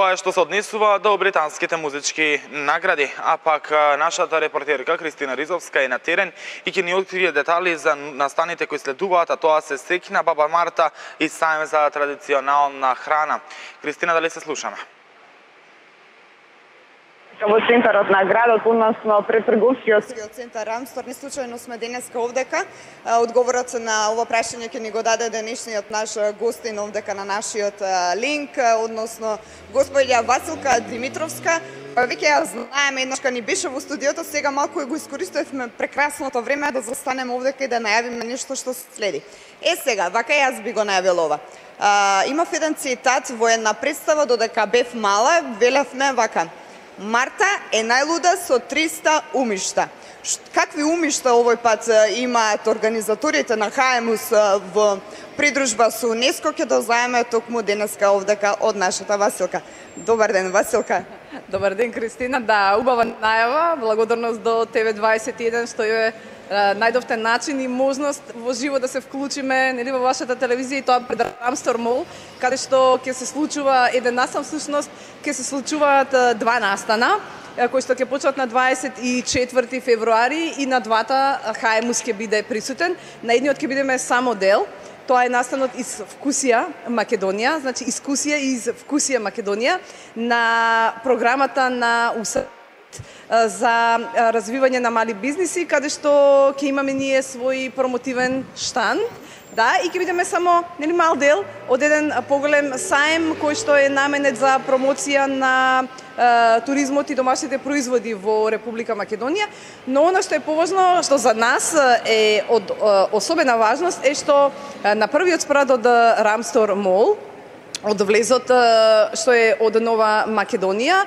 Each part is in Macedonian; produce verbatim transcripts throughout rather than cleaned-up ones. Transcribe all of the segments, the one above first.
тоа е што се однесува до британските музички награди, а пак нашата репортерка Кристина Ризовска е на терен и ќе ни открие детали за настаните кои следуваат, а тоа се Сеќна Баба Марта и сајм за традиционална храна. Кристина, дали се слушаме? Во центарот на градот, односно пред трговскиот центар Рамстор, не случајно сме денеска овдека. Одговорот на ова прашање ќе ни го даде денешниот наш гостин овдека на нашиот линк, односно господја Василка Димитровска. Веќе ја знаеме, еднаш кога ни беше во студиото, сега малку го искористувавме прекрасното време да застанеме овдека и да најавиме нешто што следи. Е сега, вака јас би го најавила ова. А, имав еден цитат во една представа додека бев мала, велевме вака: Марта е најлуда со триста умишта. Какви умишта овој пат имаат организаторите на ХАЕМУС во придружба со УНЕСКО, ќе дознаеме токму денеска овдека од нашата Василка. Добар ден, Василка. Добар ден, Кристина. Да, убава најава. Благодарност до Т В дваесет и еден што е најдовте начин и можност во живо да се вклучиме, нели, во вашата телевизија, и тоа пред Рамстор Мол, каде што ќе се случува еден настан, всушност ќе се случуваат два настана, кои што ќе почнат на дваесет и четврти февруари, и на двата ХАЕМУС ќе биде присутен. На едниот ќе бидеме само дел. Тоа е настанот из Вкусија Македонија, значи искусија из Вкусија Македонија, на програмата на УСАИД за развивање на мали бизниси, каде што ќе имаме ние свој промотивен штанд. Да, и ќе бидеме само, нели, мал дел од еден поголем саем кој што е наменет за промоција на е, туризмот и домашните производи во Република Македонија. Но она што е поважно, што за нас е од е, особена важност, е што е, на првиот спрат од Рамстор Мол, од влезот што е од Нова Македонија,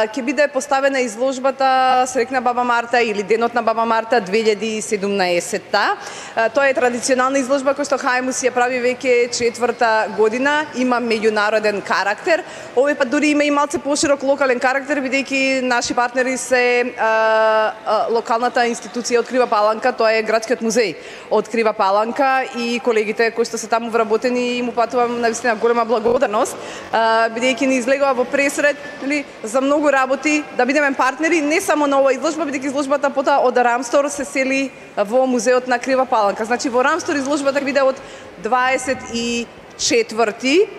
ќе биде поставена изложбата Среќна Баба Марта или Денот на Баба Марта две илјади и седумнаесетта. Тоа е традиционална изложба која што ХАЕМУС ја прави веќе четврта година, има меѓународен карактер. Овој пат дури има и малце поширок локален карактер, бидејќи наши партнери се а, а, локалната институција од Крива Паланка, тоа е градскиот музеј од Крива Паланка, и колегите кои што се таму вработени, им упатувам навистина голема благодарност, бидејќи ни излегува во пресред, нели, за многу работи, да бидеме партнери не само на оваа изложба, бидејќи изложбата потоа од Рамстор се сели во музеот на Крива Паланка. Значи во Рамстор изложбата биде од дваесет и четврти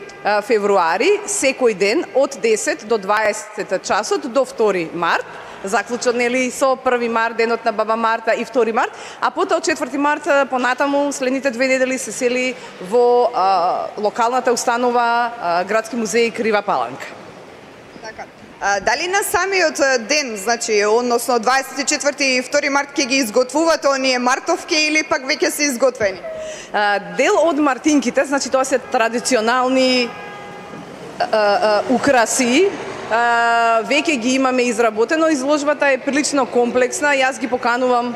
февруари, секој ден од десет до дваесет часот до втори март. Заклучно, нели, со први март, Денот на Баба Марта, и втори март, а потоа од четврти март понатаму следните две недели се сели во а, локалната установа а, Градски музеј Крива Паланка. Така. А, дали на самиот ден, значи, односно дваесет и четврти и втори март, ќе ги изготвувате оние мартовки или пак веќе се изготвени? А, дел од мартинките, значи тоа се традиционални а, а, украси, Uh, веќе ги имаме изработено. Изложбата е прилично комплексна. Јас ги поканувам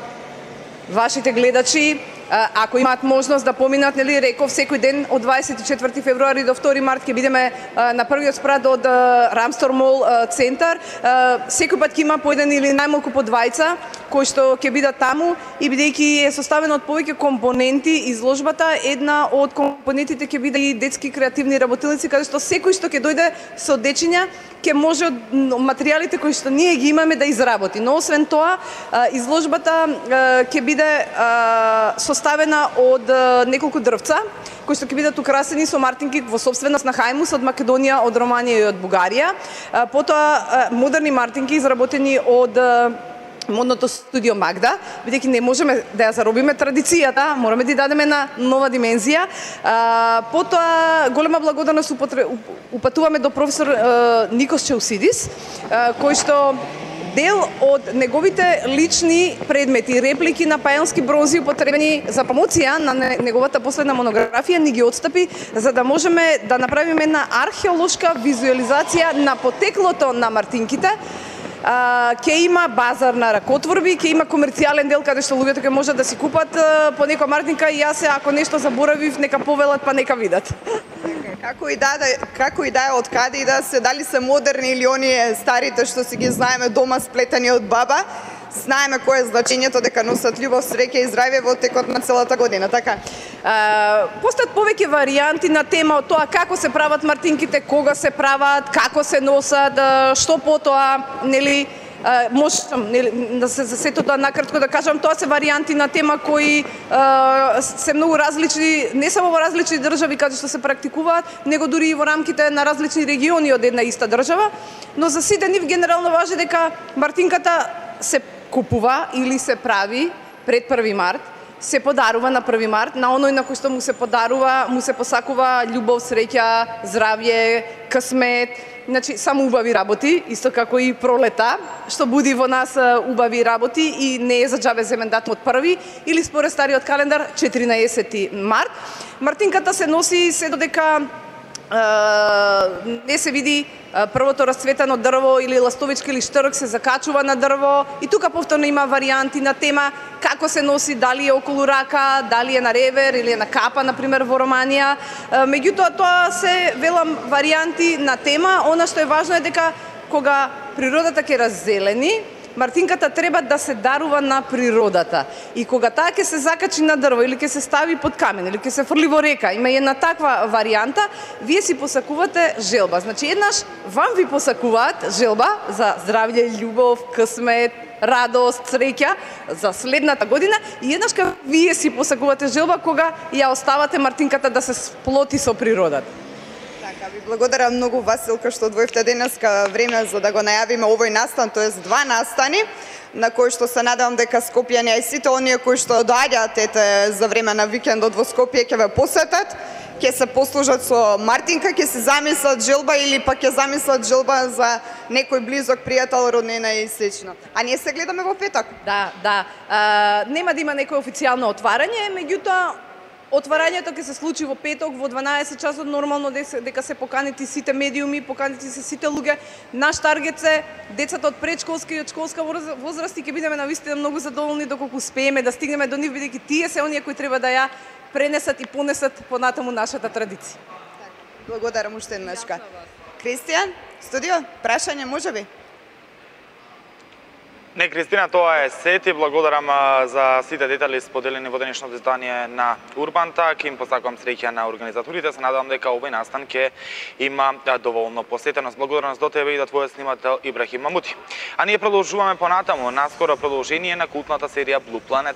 вашите гледачи, uh, ако имаат можност да поминат, нели, реков, секој ден од дваесет и четврти февруари до втори март ќе бидеме uh, на првиот спрат од uh, Рамстор Мол uh, центар. Uh, секој пат ќе има по еден или најмалку по двајца кои што ќе бидат таму, и бидејќи е составена од повеќе компоненти изложбата, една од компонентите ќе биде и детски креативни работилници, каде што секој што ќе дојде со дечиња ќе може од материјалите кои што ние ги имаме да изработи. Но освен тоа, изложбата ќе биде составена од неколку дрвца кои што ќе бидат украсени со мартинки во собственост на ХАЕМУС од Македонија, од Романија и од Бугарија. Потоа модерни мартинки изработени од модното студио Магда, бидејќи не можеме да ја заробиме традицијата, мораме да ја дадеме на нова димензија. А, потоа голема благодарност упатуваме до професор а, Никос Чаусидис, а, кој што дел од неговите лични предмети, реплики на пајански бронзи употребени за промоција на неговата последна монографија, ни ги отстапи за да можеме да направиме една археолошка визуализација на потеклото на мартинките. Uh, ќе има базар на ракотворби, ќе има комерцијален дел каде што луѓето ќе можат да си купат uh, по некоја мартинка, и јас, ако нешто заборавив, нека повелат, па нека видат. Како и да, како и да е од каде и да се, дали се модерни или оние старите што си ги знаеме дома сплетени од баба, знаеме кое е значењето дека носат љубов, среќа и здравје во текот на целата година, така? Uh, постојат повеќе варијанти на тема од тоа како се прават мартинките, кога се прават, како се носат, што потоа, нели, Uh, можам нели, да се за сето тоа накратко да кажам, тоа се варијанти на тема кои uh, се многу различни, не само во различни држави каде што се практикуваат, него дури и во рамките на различни региони од една иста држава, но за сите нив генерално важи дека мартинката се купува или се прави пред први март, се подарува на први март, на оној на кој што му се подарува, му се посакува љубов, среќа, здравје, късмет, значи само убави работи, исто како и пролета, што буди во нас убави работи и не е за џабе земен датум од први или според стариот календар четиринаесети март. Мартинката се носи се додека не се види првото расцветано дрво или ластовичка или штрк се закачува на дрво и тука повторно има варијанти на тема како се носи, дали е околу рака, дали е на ревер или е на капа, например во Романија. Меѓутоа тоа се велам варијанти на тема, она што е важно е дека кога природата ќе раззелени, мартинката треба да се дарува на природата. И кога таа ќе се закачи на дрво или ќе се стави под камен или ќе се фрли во река, има една таква варијанта, вие си посакувате желба. Значи еднаш вам ви посакуваат желба за здравје, љубов, късмет, радост, среќа за следната година и еднаш кога вие си посакувате желба кога ја оставате мартинката да се сплоти со природата. Така, ви благодарам многу, Василка, што одвоивте денеска време за да го најавиме овој настан, тоест два настани, на кои што се надевам дека скопјани и сите оние кои што доаѓаат ете за време на викендот во Скопје ќе ве посетат, ќе се послужат со мартинка, ќе се замислат желба или пак ќе замислат желба за некој близок пријател, роднина и слично. А ние се гледаме во петок. Да, да. А, нема да има некој официјално отварање, меѓутоа отварањето ќе се случи во петок во дванаесет часот, нормално дека се поканети сите медиуми, поканети се сите луѓе. Наш таргет се децата од предшколска и од школска возраст и ќе бидеме навистина многу задоволни доколку успееме да стигнеме до нив, бидејќи тие се оние кои треба да ја пренесат и понесат понатаму нашата традиција. Благодарам уште еднашка. Кристијан, студио, прашање можеби? Не, Кристина, тоа е сети. Благодарам за сите детали споделени во денешното издание на Урбантак. Им посакувам среќа на организаторите. Се надевам дека овој настан ќе има доволно посетеност. Благодарност до тебе и до твојот снимател Ибрахим Мамути. А ние продолжуваме понатаму, наскоро продолжение на култната серија Blue Planet.